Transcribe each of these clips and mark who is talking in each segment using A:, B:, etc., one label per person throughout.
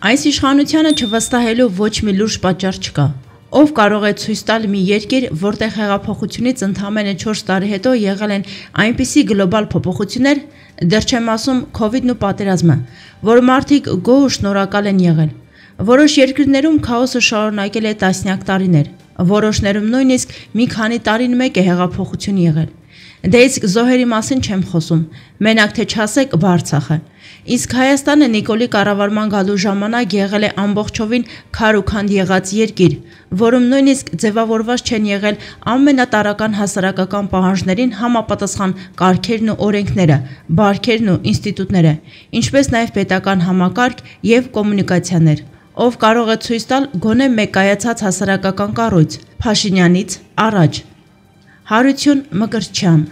A: Այս իշխանությանը չվստահելու ոչ մի լուրջ պատճառ չկա։ Ով կարող է ցույց տալ մի երկիր, որտեղ հեղափոխությունից ընդամենը 4 տարի հետո եղել են այնպիսի գլոբալ փոփոխություններ, դեռ չեմ ասում Քովիդն ու պատերազմը, որ մարդիկ գոհ ու շնորհակալ են եղել։ Որոշ երկրներում քաոսը շարունակել է տասնյակ տարիներ, որոշներում նույնիսկ մի քանի տարին մեկ է հեղափոխություն եղել։ Դե իսկ զոհերի մասին չեմ խոսում, մենակ թե չասեք Արցախը։ Իսկ Հայաստանը Նիկոլի կառավարման գալու ժամանակ եղել է ամբողջովին քար ու քանդ եղած երկիր, որում նույնիսկ ձևավորված չեն եղել ամենատարրական հասարակական պահանջներին համապատասխան կարգերն ու օրենքները, բարքերն ու ինստիտուտները, ինչպես նաև պետական համակարգ և կոմունիկացիաներ։ Ով կարող է ցույց տալ գոնե մեկ կայացած հասարակական կառույց Փաշինյանից առաջ։ Հարություն Մկրտչյան։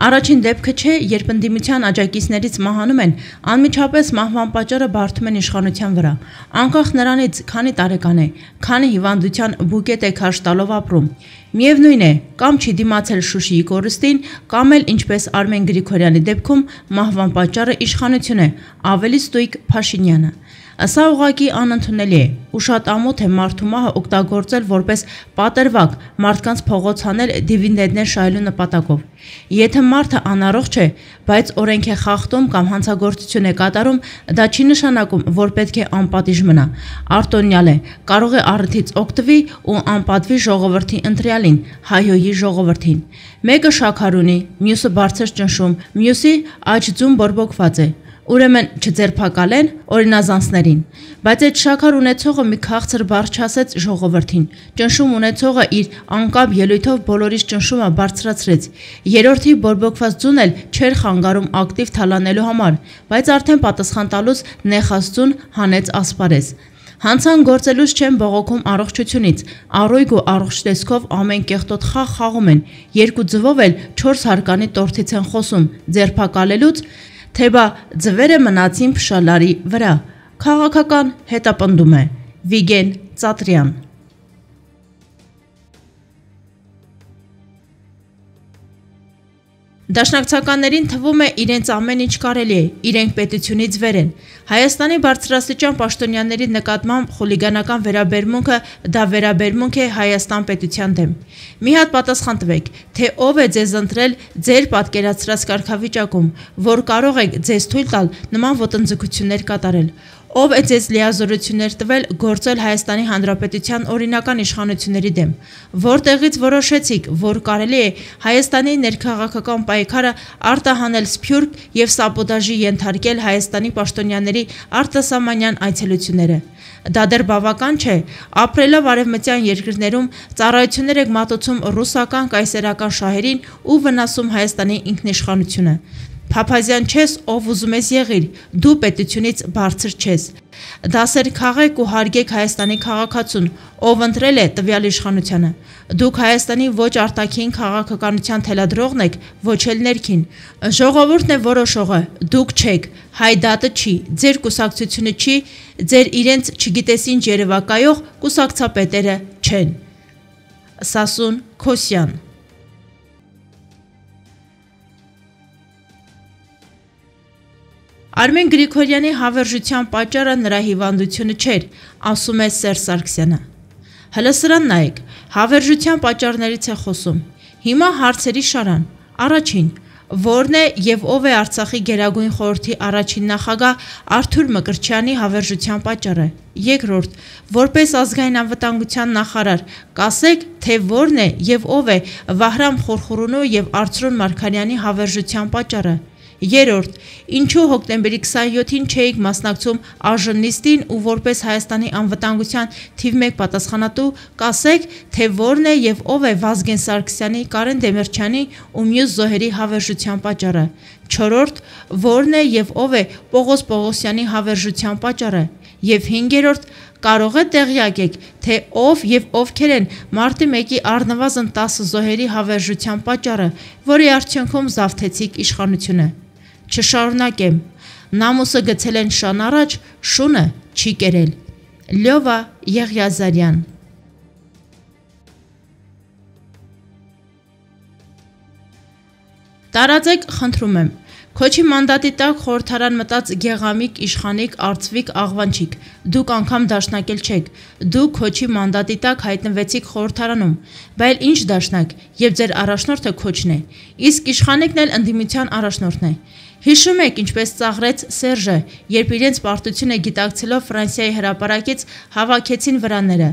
A: Առաջին դեպքը չէ, երբ ընդդիմության աջակիցներից մահանում են, անմիջապես մահվան պատճառը բարդում են իշխանության վրա, անկախ նրանից քանի տարեկան է, քանի հիվանդության բուկետ է քարշ տալով ապրում։ Միևնույն է, կամ չի դիմացել Շուշիի կորստին, կամ էլ ինչպես Արմեն Գրիգորյանի դեպքում մահվան պատճառը իշխանություն է, ավելի ստույգ Փաշինյանը։ Սա ուղղակի անընդունելի է, ու շատ ամոթ է մարդու մահը օգտագործել որպես պատրվակ մարդկանց փողոց հանել դիվիդենդներ շահելու նպատակով։ Եթե մարդը անառողջ է, բայց օրենք է խախտում կամ հանցագործություն է կատարում, դա չի նշանակում, որ պետք է անպատիժ մնա։ Արտոնյալ է, կարող է առիթից օգտվի ու անպատվի ժողովրդի ընտրյալին, հայհոյի ժողովրդին։ Մեկը շաքար ունի, մյուսը բարձր ճնշում, մյուսի աջ ձուն բորբոքված է։ Ուրեմն չձերբակալեն օրինազանցներին, բայց այդ շաքար ունեցողը մի քաղցր բառ չասեց ժողովրդին, ճնշում ունեցողը իր անկապ ելույթով բոլորիս ճնշումը բարձրացրեց, երրորդի բորբոքված ձուն էլ չէր խանգարում ակտիվ թալանելու համար, բայց արդեն պատասխան տալուց նեխած ձուն հանեց ասպարեզ։ Հանցան գործելուց չեն բողոքում առողջությունից, առույգ ու առողջ տեսքով ամեն կեղտոտ խաղ խաղում են, երկու ձվով էլ 4 հարկանի տորթից են խոսում, ձերբակալելուց, թե բա ձվերը մնացին փշալարի վրա։ Քաղաքական հետապնդում է Վիգեն Ծատրյան։ Դաշնակցականներին թվում է իրենց ամեն ինչ կարելի է, իրենք պետությունից վեր են։ Հայաստանի բարձրաստիճան պաշտոնյաների նկատմամբ խուլիգանական վերաբերմունքը դա վերաբերմունք է Հայաստան պետության դեմ։ Մի հատ պատասխան տվեք, թե ով է ձեզ ընտրել ձեր պատկերացրած կարգավիճակում, որ կարող եք ձեզ թույլ տալ նման ոտնձգություններ կատարել։ Ով է ձեզ լիազորություններ տվել գործել Հայաստանի Հանրապետության օրինական իշխանությունների դեմ, որտեղից որոշեցիք, որ կարելի է Հայաստանի ներքաղաքական պայքարը արտահանել սփյուռք և սաբոտաժի ենթարկել Հայաստանի պաշտոնյաների արտասահմանյան այցելությունները։ Դա դեռ բավական չէ, ապրելով արևմտյան երկրներում ծառայություններ եք մատուցում ռուսական կայսերական շահերին ու վնասում Հայաստանի ինքնիշխանությունը։ Փափազյան չես, ով ուզում ես եղիր, դու պետությունից բարձր չես։ Դասեր քաղեք ու հարգեք Հայաստանի քաղաքացուն, ով ընտրել է տվյալ իշխանությանը։ Դուք Հայաստանի ոչ արտաքին քաղաքականության թելադրողն եք, ոչ էլ ներքին։ Ժողովուրդն է որոշողը, դուք չեք, հայ դատը չի, ձեր կուսակցությունը չի, ձեր իրենց չգիտես ինչ երևակայող կուսակցապետերը չեն։ Սասուն Քոսյան։ Արմեն Գրիգորյանի հավերժության պատճառը նրա հիվանդությունը չէր, ասում է Սերժ Սարգսյանը։ Հլը սրան նայեք, հավերժության պատճառներից է խոսում։ Հիմա հարցերի շարան։ Առաջին, որն է և ով է Արցախի Գերագույն խորհրդի առաջին նախագահ Արթուր Մկրտչյանի հավերժության պատճառը։ Երկրորդ, որպես ազգային անվտանգության նախարար, կասեք, թե որն է և ով է Վահրամ Խորխորունու և Արծրուն Մարգարյանի հավերժության պատճառը։ Երրորդ, ինչու հոկտեմբերի 27-ին չէիք մասնակցում ԱԺ-նիստին ու որպես Հայաստանի անվտանգության թիվ 1 պատասխանատու, կասեք, թե որն է և ով է Վազգեն Սարգսյանի, Կարեն Դեմիրճյանի ու մյուս զոհերի հավերժության պատճառը։ Չորրորդ, որն է և ով է Պողոս Պողոսյանի հավերժության պատճառը։ Եվ հինգերորդ, կարող է տեղյակ եք, թե ով և ովքեր են մարտի 1-ի առնվազն 10 զոհերի հավերժության պատճառը, որի արդյունքում զավթեցիք իշխանությունը։ Չշարունակեմ, նամուսը գցել են շան առաջ, շունը չի կերել։ Լյովա Եղիազարյան։ Տարածեք, խնդրում եմ, Քոչի մանդատի տակ խորհրդարան մտած Գեղամիկ, Իշխանիկ, Արծվիկ, Աղվանչիկ, դուք անգամ դաշնակել չեք, դուք Քոչի մանդատի տակ հայտնվեցիք խորհրդարանում, բայց ինչ դաշնակ, եւ ձեր առաջնորդը Քոչն է, իսկ Իշխանիկն էլ ընդդիմության առաջնորդն է։ Հիշում եք, ինչպես ծաղրեց Սերժը, երբ իրենց պարտությունը գիտակցելով Ֆրանսիայի հրապարակից հավաքեցին վրաները։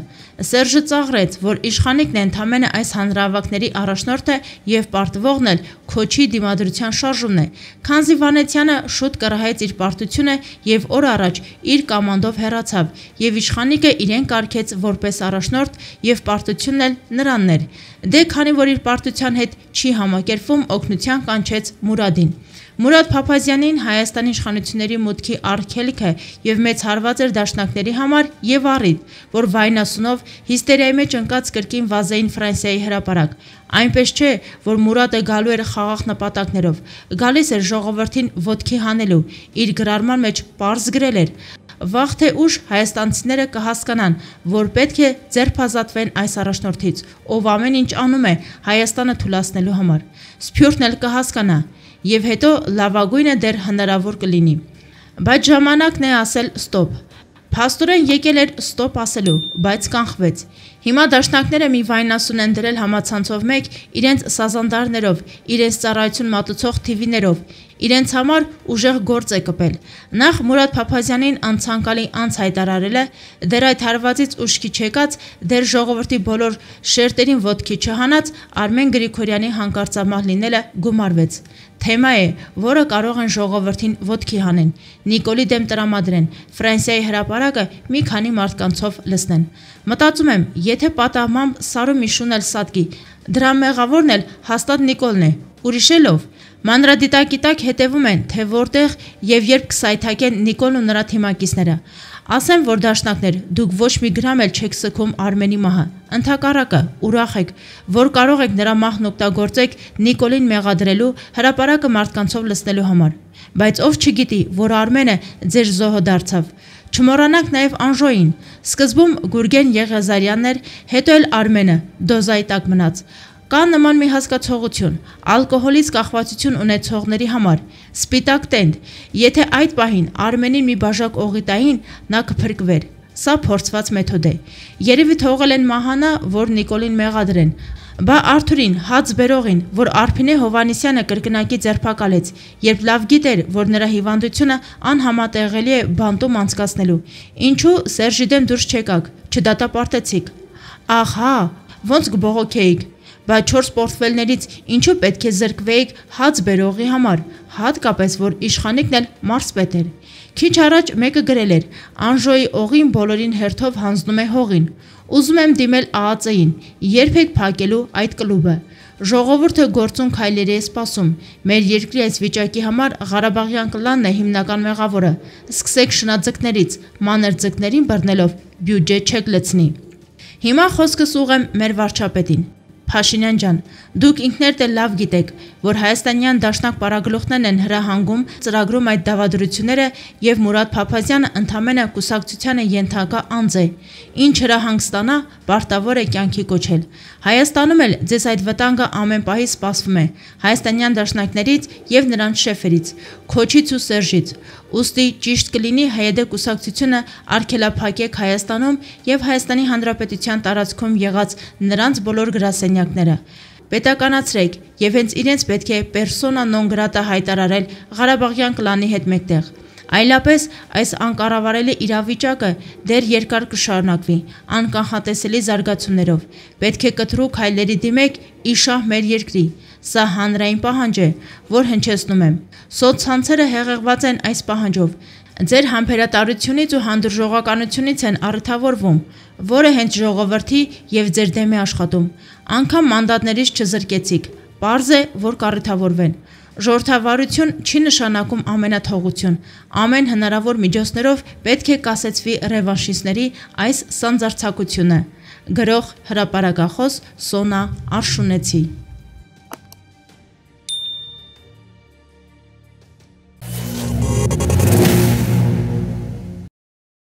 A: Սերժը ծաղրեց, որ Իշխանիկն է ընդամենը այս հանրահավաքների առաջնորդը եւ պարտվողն էլ Քոչի դիմադրության շարժումն է, քանզի Վանեցյանը շուտ կռահեց իր պարտությունը եւ օր առաջ իր կամանդով հեռացավ, եւ Իշխանիկը իրեն կարգեց որպես առաջնորդ եւ պարտությունն էլ նրանն էր։ Դե քանի որ իր պարտության հետ չի համակերպվում, օգնության կանչեց Մուրադին։ Մուրադ Փափազյանին Հայաստանի իշխանությունների մուտքի արգելքը եւ մեծ հարված էր դաշնակների համար եւ առիթ, որ վայնասունով հիստերիայի մեջ ընկած կրկին վազեին Ֆրանսիայի հրապարակ։ Այնպես չէ, որ Մուրադը գալու էր խաղաղ նպատակներով, գալիս էր ժողովրդին ոտքի հանելու, իր գրառման մեջ պարզ գրել էր. Վաղ թե ուշ հայաստանցիները կհասկանան, որ պետք է ձերբազատվեն այս առաջնորդից, ով ամեն ինչ անում է Հայաստանը թուլացնելու համար։ Սփյուռքն էլ կհասկանա, եւ հետո լավագույնը դեռ հնարավոր կլինի։ Բայց ժամանակն է ասել ստոպ։ Փաստորեն եկել էր ստոպ ասելու, բայց կանխվեց։ Հիմա դաշնակները մի վայնասուն են դրել համացանցով մեկ իրենց սազանդարներով, իրենց ծառայություն մատուցող թիվիներով, իրենց համար ուժեղ գործ է կպել։ Նախ Մուրադ Փափազյանին անցանկալի անց հայտարարել է, դեռ այդ հարվածից ուշքի չեկած, դեռ ժողովրդի բոլոր շերտերին ոտքի չհանած Արմեն Գրիգորյանի հանկարծամահ լինելը գումարվեց։ Թեմա է, որը կարող են ժողովրդին ոտքի հանեն, Նիկոլի դեմ տրամադրեն, Ֆրանսիայի հրապարակը մի քանի մարդկանցով լցնեն։ Մտածում եմ, եթե պատահմամբ Սարու Միշուն էլ սատկի, դրա մեղավորն էլ հաստատ Նիկոլն է, ուրիշելով։ Մանրադիտակի տակ հետևում են, թե որտեղ եւ երբ կսայթակեն Նիկոլն ու նրա թիմակիցները։ Ասեմ, որ դաշնակներ, դուք ոչ մի գրամ էլ չեք սքում Արմենի մահը, ընդհակառակը ուրախ եք, որ կարող եք նրա մահն օգտագործեք Նիկոլին մեղադրելու, հրապարակը մարդկանցով լցնելու համար։ Բայց ով չգիտի, որ Արմենը ձեր զոհը դարձավ։ Չմոռանանք նաև Անժոյին, սկզբում Գուրգեն Եղիազարյանն էր, հետո էլ Արմենը, դոզայի տակ մնաց։ Կա նման մի հասկացողություն, ալկոհոլից կախվածություն ունեցողների համար, սպիտակ տենդ, եթե այդ պահին Արմենին մի բաժակ օղի տային, նա կփրկվեր։ Սա փորձված մեթոդ է։ Երևի թողել են մահանա, որ Նիկոլին մեղադրեն։ Բա Արթուրին, հաց բերողին, որ Արփինե Հովանեսյանը կրկնակի ձերբակալեց, երբ լավ գիտեր, որ նրա հիվանդությունը անհամատեղելի է բանտում անցկացնելու։ Ինչու Սերժի դեմ դուրս չեկաք, չդատապարտեցիք։ Ահա, ոնց կբողոքեիք։ Բայց 4 պորտֆելներից ինչու պետք է զրկվեիք հաց բերողի համար, հատկապես որ Իշխանիկն էլ մարզպետ էր։ Քիչ առաջ մեկը գրել էր. Անժոյի օղին բոլորին հերթով հանձնում է հողին։ Ուզում եմ դիմել ԱԱԾ-ին, երբ եք փակելու այդ կլուբը։ Ժողովուրդը գործուն քայլերի է սպասում։ Մեր երկրի այս վիճակի համար Ղարաբաղյան կլանն է հիմնական մեղավորը։ Սկսեք շնաձկներից, մանր ձկներին բռնելով բյուջե չեք լցնի։ Հիմա խոսքս ուղղեմ մեր վարչապետին։ Փաշինյան ջան, դուք ինքներդ էլ լավ գիտեք, որ հայաստանյան դաշնակ պարագլուխներն են հրահանգում, ծրագրում այդ դավադրությունները եւ Մուրադ Փափազյանը ընդամենը կուսակցությանը ենթակա անձ է, ինչ հրահանգ ստանա, պարտավոր է կյանքի կոչել։ Հայաստանում էլ ձեզ այդ վտանգը ամեն պահի սպասվում է, հայաստանյան դաշնակներից եւ նրանց շեֆերից, Քոչից ու Սերժից։ Ուստի ճիշտ կլինի ՀՅԴ կուսակցությունը արգելափակեք Հայաստանում եւ Հայաստանի Հանրապետության տարածքում եղած նրանց բոլոր գրասենյակները։ Պետականացրեք եւ հենց իրենց պետք է պերսոնա նոն գրատա հայտարարել Ղարաբաղյան կլանի հետ մեկտեղ։ Այլապես այս անկառավարելի իրավիճակը դեռ երկար կշարունակվի, անկանխատեսելի զարգացումներով։ Պետք է կտրուկ հայլերի դիմեք իշահ մեր երկրի։ Սա հանրային պահանջ է, որ հնչեցնում եմ։ Սոցցանցերը հեղեղված են այս պահանջով։ Ձեր համբերատարությունից ու հանդուրժողականությունից են առթավորվում, որը հենց ժողովրդի եւ ձեր դեմ է աշխատում։ Անկամ մանդատներից չզրկեցիք։ Պարզ է, որ կառիթավորվեն։ Ժողովրդավարություն չի նշանակում ամենաթողություն։ Ամեն հնարավոր միջոցներով պետք է կասեցվի ռևանշիստների այս սանձարձակությունը։ Գրող հրապարակախոս Սոնա Արշունեցի։